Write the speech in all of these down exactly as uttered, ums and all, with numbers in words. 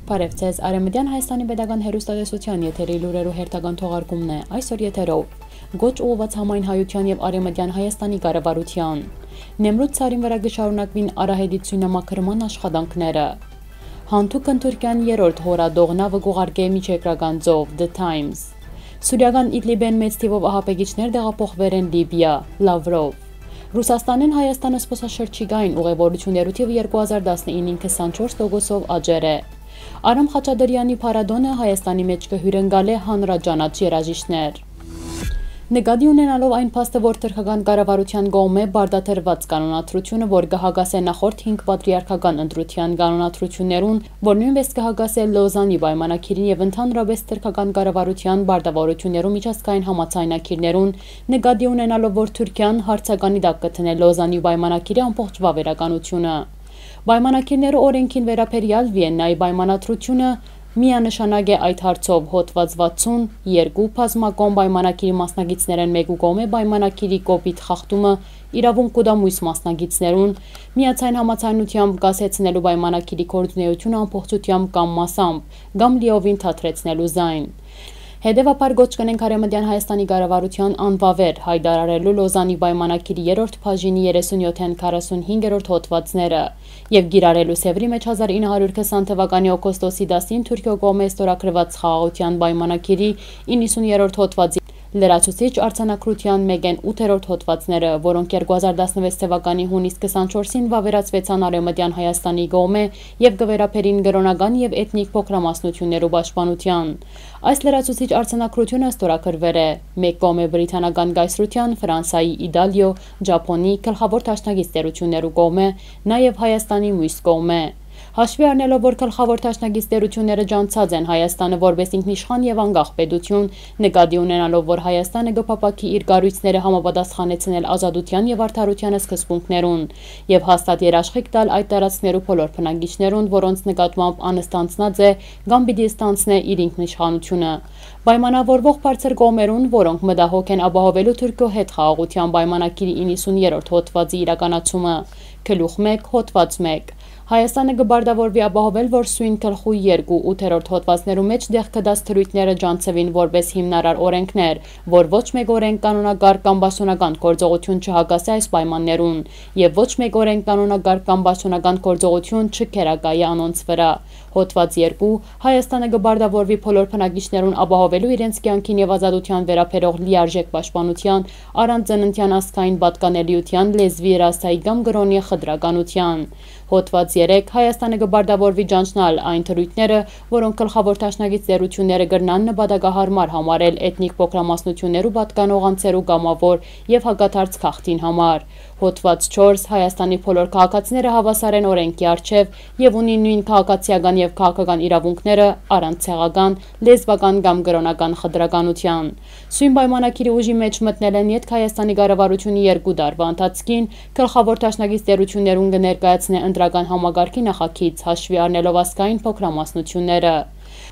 Բարև ձեզ, Արևմտյան Հայաստանի Պետական հեռուստատեսության եթերի լուրերու հերթական թողարկումն է, այսօր եթերով գոչ ուղղված համայն հայության եւ Արևմտյան Հայաստանի կառավարության։ Նեմրութ ցարին վրա կշարունակվին Արահետից սյունամաքրման աշխատանքները։ Հանթուկն Թուրքիան երրորդ հորադողնավը կուղարկե միջերկրական ծով The Times։ Սուրիական Իդլիբեն մեծ թիվով ահապեկիչներ տեղափոխվել են Լիբիա, Լավրով։ Ռուսաստանին Հայաստանը սփոսաշրջիկային ուղևորություններու թիվը երկու հազար տասնինին քսանչորս տոկոսով աճեր է։ Արամ Խաչատրյանի փառատոնը Հայաստանի մեջ կհյուրընկալի հանրաճանաչ երաժիշտներ։ Նկատի ունենալով այն փաստը, որ թուրքական կառավարության կողմէ բարդաթրված կանոնադրությունը, որ կհագասե նախորդ հինգ պատրիարքական ընտրության կանոնադրություններուն, որ նույնպես կհագասե Լոզանի պայմանագիրին եւ ընդհանրապես թուրքական կառավարության բարդավորություններու միջազգային համաձայնագիրներուն, նկատի ունենալով, որ Թուրքիան հարցականի տակ կտնե Լոզանի պայմանագիրի ամբողջ վավերականությունը։ Պայմանագիրները օրենքին վերաբերյալ Վիեննայի պայմանադրությունը միանշանակ է այդ հարցով հոդված վաթսուն երկու բազմակողմ պայմանագիրի մասնագետներն մեկու կողմէ պայմանագիրի կոպիտ խախտումը իրավունք կուտա մյուս մասնագետներուն միացայն համաձայնությամբ կասեցնելու պայմանագիրի գործունեությունը ամբողջությամբ կամ մասամբ կամ լիովին թատրեցնելու զայն։ Հետևաբար գոչ կնենք Արևմտյան Հայաստանի կառավարության անվավեր հայտարարելու Լոզանի պայմանագիրի երրորդ բաժինի երեսունյոթ քառասունհինգերորդ հոդվածները եւ գիրառելու Սևրի մեջ հազար ինը հարյուր քսան թվականի օգոստոսի տասին Թուրքիո կողմէ ստորագրված խաղաղության պայմանագիրի իննսուներորդ հոդվածի լրացուցիչ արձանագրության մեկեն ութերորդ հոդվածները, որոնք երկու հազար տասնվեց թվականի հունիս քսանչորսին վավերացվեցան Արևմտյան Հայաստանի կողմէ եւ կվերապերին կրոնական եւ էթնիկ փոքրամասնություններու պաշտպանության։ Այս լրացուցիչ արձանագրությունը ստորագրվել է մեկ կողմէ բրիտանական կայսրության, Ֆրանսիայի, Իտալիո, Ճապոնի, գլխավոր դաշնակիցներություններու կողմէ, նաեւ Հայաստանի մյուս կողմէ։ Հաշվի առնելով, որ գլխավոր դաշնակիցներությունները ջանցած են Հայաստանը որպես ինքնիշխան եւ անկախ պետություն, նկատի ունենալով, որ Հայաստանը կփապակի իր կառույցները համապատասխանեցնել ազատության եւ արդարության սկզբունքներուն եւ հաստատ երաշխիք տալ այդ տարածքներու բոլոր բնակիչներուն, որոնց նկատմամբ անստանցնած է կամ պիտի ստանցնե իր ինքնիշխանությունը։ Պայմանավորվող բարձր կողմերուն, որոնք մտահոգ են ապահովելու Թուրքիո հետ խաղաղության պայմանագիրի իննսուներորդ հոդվածի իրականացումը։ Գլուխ մեկ հոդված մեկ Հայաստանը կբարդավորվի ապահովել, որ սույն գլխու երկու ութերորդ հոդվածներու մեջ դեղ կդած թրույթները ջանցվին որպես հիմնարար օրենքներ, որ ոչ մեկ օրենք կանոնակարգ կամ պաշտոնական գործողություն չհագասի այս պայմաններուն եւ ոչ մեկ օրենք կանոնակարգ կամ պաշտոնական գործողություն չքերակայի անոնց վրա։ Հոդված երկու Հայաստանը կբարդավորվի բոլոր բնակիչներուն ապահովելու իրենց կյանքին եւ ազատության վերաբերող լիարժեք պաշտպանության, առանց ծննդյան ազգային պատկանելիության, լեզվի, ռասայի կամ կրոնի խտրականության։ Հոդված երեք Հայաստանը կբարդավորվի ջանցնալ այն թրույթները, որոնք գլխավոր դաշնակիցներությունները կրնան նպատակահարմար համարել էթնիկ փոքրամասնություններու պատկանող անձերու կամավոր եւ հակադարձ քաղաքին համար։ Հոդված չորս Հայաստանի բոլոր քաղաքացիները հավասար են օրենքի առջև եւ ունին նույն քաղաքացիական եւ քաղաքական իրավունքները առանց ցեղական, լեզվական կամ կրոնական խտրականության։ Սույն պայմանագիրի ուժի մեջ մտնել են յետք Հայաստանի կառավարությունը երկու տարվա ընթացքին գլխավոր դաշնակիցներություններուն կներկայացնե ընտրական համագարքի նախագիծ հաշվի առնելով ազգային փոքրամասնությունները։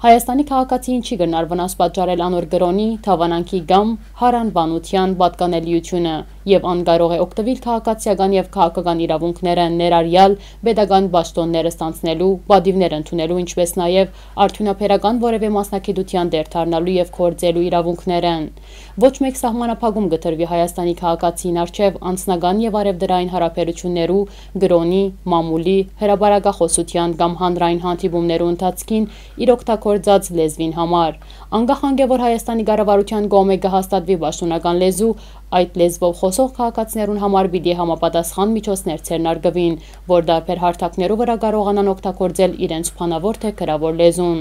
Հայաստանի քաղաքացին չի գնար վնաս պատճառել անոր կրոնի, թավանանքի կամ հարանվանության պատկանելիությունը եւ անկարող է օգտվել քաղաքացիական եւ քաղաքական իրավունքները ներառյալ պետական պաշտոնները ստանցնելու, պատիվներ ընդունելու, ինչպես նաեւ արդյունաբերական որևէ մասնագիտության դերթարնալու եւ կորձելու իրավունքներն։ Ոչ մեկ սահմանափակում կտրվի Հայաստանի քաղաքացին առջև անձնական եւ արևդրային հարաբերություններու, կրոնի, մամուլի, հրաբարակախոսության կամ հանրային հանդիպումներու ընթացքին իր օգտագործած լեզվին համար։ Անկախ անկե որ Հայաստանի կառավարության կողմէ կհաստատվի պաշտոնական լեզու, այդ լեզվով խոսող քաղաքացիներուն համար պիտի համապատասխան միջոցներ ցերնարգվին, որ դարբեր հարթակներու վրա կարողանան օգտագործել իրենց բանավոր թե գրավոր լեզուն։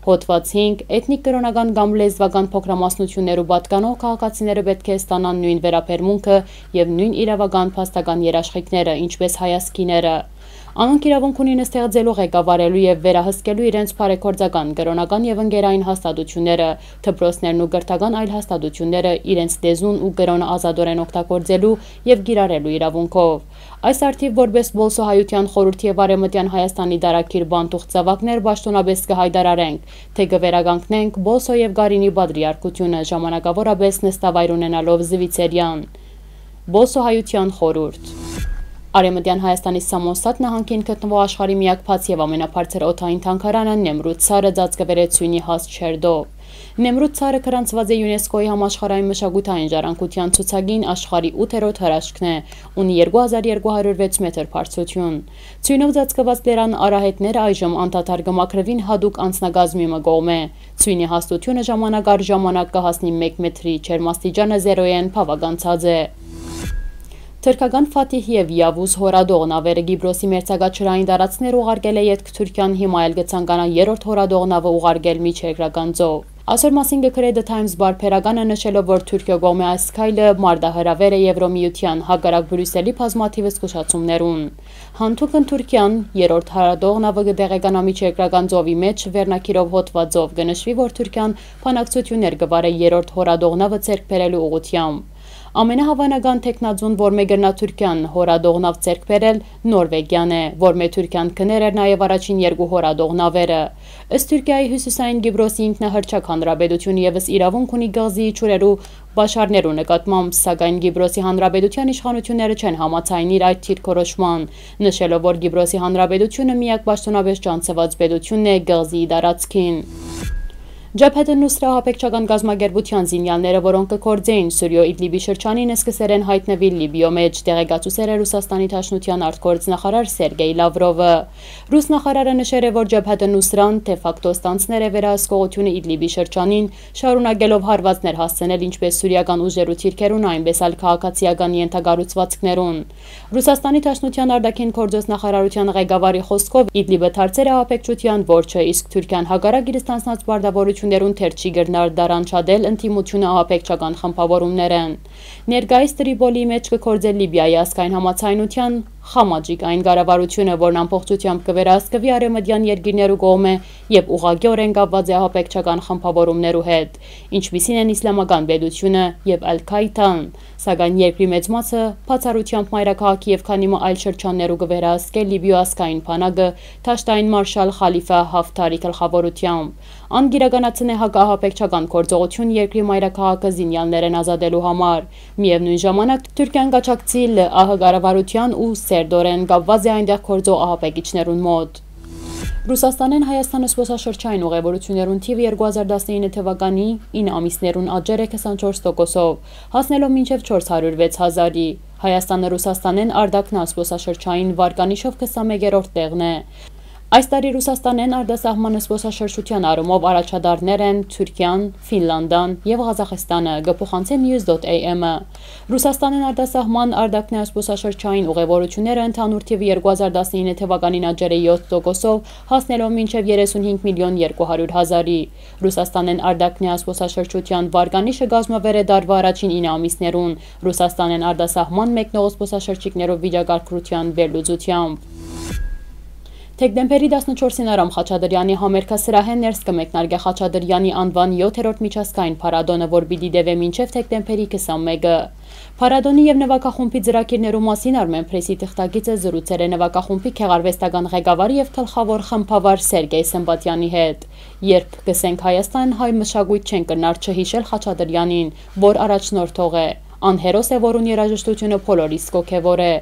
Հոդված հինգ Էթնիկ կրոնական կամ լեզվական փոքրամասնություններու պատկանող քաղաքացիները պետք է ստանան նույն վերաբերմունքը եւ նույն իրավական փաստական երաշխիքները, ինչպես հայազգիները։ Անոնք իրավունք ունին ստեղծելու, ղեկավարելու եւ վերահսկելու իրենց բարեգործական, կրոնական եւ ընկերային հաստատությունները, դպրոցներն ու կրթական այլ հաստատությունները իրենց լեզուն ու կրոնը ազատորեն օգտագործելու եւ գիրառելու իրավունքով։ Այս արդիվ որպես Բոլսոհայության խորհրդի եւ Արևմտյան Հայաստանի դարակիր բանտուղ ծավակներ պաշտոնապես կհայտարարենք, թե կվերականգնենք Բոլսո եւ Գարինի պատրիարքությունը ժամանակավորապես նստավայր ունենալով Զվիցերյան։ Բոլսոհայության խորհուրդ Արևմտյան Հայաստանի Սամոսատ նահանգին գտնվող աշխարհի միակ բաց եւ ամենաբարձր օդային թանգարանը Նեմրութ Ցարը ծածկվել է Ցույնի հաստ շերտով։ Նեմրութ Ցարը գրանցված է ՅՈՒՆԵՍԿՕ-ի համաշխարհային մշակութային ժառանգության ցուցակին աշխարհի ութերորդ հրաշքն է, ունի երկու հազար երկու հարյուր վեց մետր բարձրություն։ Ցույնով ծածկված լեռան արահետները այժմ անդադար կմաքրվին հատուկ անձնագազմի մկողմ է։ Ցույնի հաստությունը ժամանակ առ ժամանակ կհասնի մեկ մետրի, ջերմաստիճանը զերոյեն բավականացած է։ Թուրքական Ֆաթիհ եւ Յավուզ հորադող նավերը Գիբրոսի մերձակաչրային տարածքներ ուղարկել է ետք Թուրքիան հիմա էլ կցանկանա երրորդ հորադող նավը ուղարկել միջերկրական ծով։ Այսօր մասին գրել է The Times բարբերականը նշելով, որ Թուրքիա կողմի այս քայլը մարտահրավեր է Եվրոմիության հակառակ Բրյուսելի բազմաթիվ զգուշացումներուն։ Հանթուկն Թուրքիան երրորդ հորադող նավը կդեղեկանա միջերկրական ծովի մեջ վերնակիրով հոտվածով կնշվի, որ Թուրքիան բանակցություններ կվարի երրորդ հորադող նավը ձեռք բերելու ուղղությամբ։ Ամենահավանական տեխնազուն, որ մեգրնա Թուրքիան հորադող նավ ձեռք բերել, Նորվեգիան է, որ մե Թուրքիան կներեր նաև առաջին երկու հորադող նավերը։ Ըստ Թուրքիայի հյուսիսային Գիբրոսի ինքնահռչակ հանրապետությունը եւս իրավունք ունի գազի իջուրերու բաշարներու նկատմամբ, սակայն Գիբրոսի հանրապետության իշխանությունները չեն համաձայնիր այդ դիրքորոշման, նշելով, որ Գիբրոսի հանրապետությունը միակ պաշտոնապես ճանաչված պետությունն է գազի տարածքին։ Ջաբհաթ ալ-Նուսրա հապեկչական գազམ་ագերբության զինյալները, որոնք կգործեին Սուրիո Իդլիբի շրջանին, սկսել են հայտնվել Լիբիո մեջ, տեղեկացուցել է Ռուսաստանի Դաշնության արտգործնախարար Սերգեյ Լավրովը։ Ռուս նախարարը նշել է, որ Ջաբհաթ ալ-Նուսրան դե ֆակտո ստանցներ է վերահսկողությունը Իդլիբի շրջանին, շարունակելով հարվածներ հասցնել ինչպես սուրիական ուժերու թիրքերուն, այնպես էլ քաղաքացիական ենթակառուցվածքներուն։ Ռուսաստանի Դաշնության արտաքին գործոս նախարարության ղեկավարի խոսքով Իդլիբը դարձել է հապեկչության որջը, իսկ Թուրքիան հակառակ իր ստանցած բարդավորություններուն թերչի գրնար դարանչադել ընդդիմությունը հապեկչական խմբավորումներ են։ Ներկայիս Տրիպոլիի մեջ կգործել Լիբիայի ազգային համացայնության Խամաջիկ այն կառավարությունը, որն ամբողջությամբ կվերահսկվի արևմտյան երկիրներու կողմէ եւ ուղղակիորեն կապված է հապեկչական խմբավորումներու հետ, ինչպիսին են Իսլամական պետությունը եւ Ալ-Քայդան, սակայն երկրի մեծ մասը բացառությամբ մայրաքաղաքի եւ քանի այլ շրջաններու կվերահսկել Լիբիո ազգային բանակը Թաշտային մարշալ Խալիֆա Հաֆթարի գլխավորությամբ։ Անգիրականացնե հակահապեկչական գործողություն երկրի մայրաքաղաքը զինյալներեն ազատելու համար։ Միևնույն ժամանակ Թուրքիան կաչակցի ԼԱՀ կառավարության ու սերդորեն կապված է այնտեղ գործող ահապեկիչներուն մոտ։ Ռուսաստանեն Հայաստանը զբոսաշրջային ուղևորություններուն թիվը երկու հազար տասնինը թվականի ինը ամիսներուն աճել է քսանչորս տոկոսով, հասնելով մինչև չորս հարյուր վեց հազարի։ Հայաստանը Ռուսաստանեն արդակնա զբոսաշրջային վարկանիշով քսանմեկերորդ տեղն է։ Այս տարի Ռուսաստանեն արտասահման զբոսաշրջության առումով առաջադարներ են Թուրքիան, Ֆինլանդան եւ Ղազախստանը, գփոխանցե News dot A M-ը։ Ռուսաստանեն արտասահման արդակնա զբոսաշրջային ուղևորությունները ընդհանուր թիվը երկու հազար տասնինը թվականին աճել է յոթ տոկոսով, հասնելով մինչև երեսունհինգ միլիոն երկու հարյուր հազարի։ Ռուսաստանեն արդակնա զբոսաշրջության վարկանիշը կազմվեր է դարվա առաջին ինը ամիսներուն, Ռուսաստանեն արտասահման մեկնող զբոսաշրջիկներով վիճակագրության վերլուծությամբ։ Դեկտեմբերի տասնչորսին Արամ Խաչատրյանի համերգասրահեն ներս կմեկնարկի Խաչատրյանի անվան յոթերորդ միջազգային փառատոնը, որ պիտի տևի մինչև դեկտեմբերի քսանմեկը։ Փառատոնի եւ նվագախումբի ծրագիրներու մասին Armen Press-ի թղթակիցը զրուցել է նվագախումբի քեղարվեստական ղեկավարի եւ գլխավոր խմբավար Սերգեյ Սմբատյանի հետ։ Երբ գսենք Հայաստան, հայ մշակույթ չեն կնար չհիշել Խաչատրյանին, որ առաջնորդող է։ Անհերոս է, որուն երաժշտությունը բոլորիս կոգևոր է։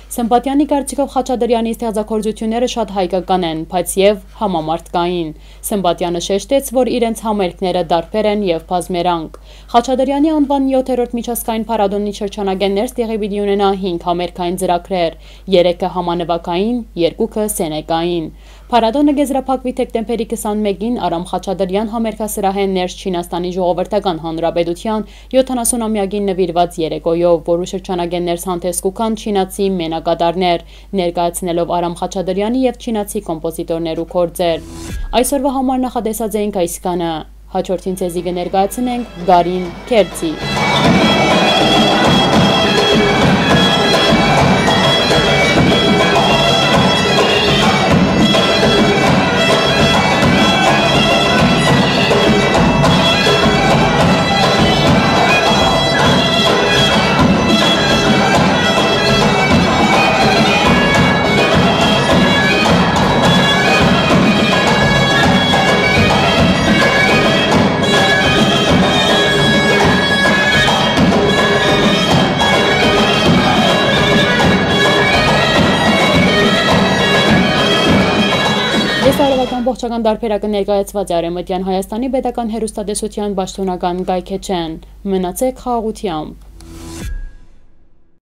Սմբատյանի կարծիքով Խաչատրյանի ստեղծագործությունները շատ հայկական են, բայց եւ համամարտկային։ Սմբատյանը շեշտեց, որ իրենց համերգները դարբեր են եւ բազմերանգ։ Խաչատրյանի անվան յոթերորդ միջազգային փառատոնի շրջանագեն ներս տեղի պիտի ունենա հինգ համերգային ծրագրեր, երեքը համանվագային, երկուքը սենեկային։ Փառատոնը կեզրափակվի դեկտեմբերի քսանմեկին Արամ Խաչատրյան համերգասրահեն ներս Չինաստանի Ժողովրդական Հանրապետության յոթանասունամյակին նվիրված երեկոյով, որու շրջանագեն ներս հանդես կուքան չինացի մենակատարներ, ներկայացնելով Արամ Խաչատրյանի եւ չինացի կոմպոզիտորներու գործեր։ Այսօրվա համար նախատեսած էինք այսքանը, հաջորդին ցեզի կներկայացնենք Գարին Քերցի։ Քաղաքի ամբողջական դարբերակը ներկայացված է Արևմտյան Հայաստանի պետական հեռուստատեսության պաշտոնական կայքէջեն։ Մնացեք խաղաղությամբ։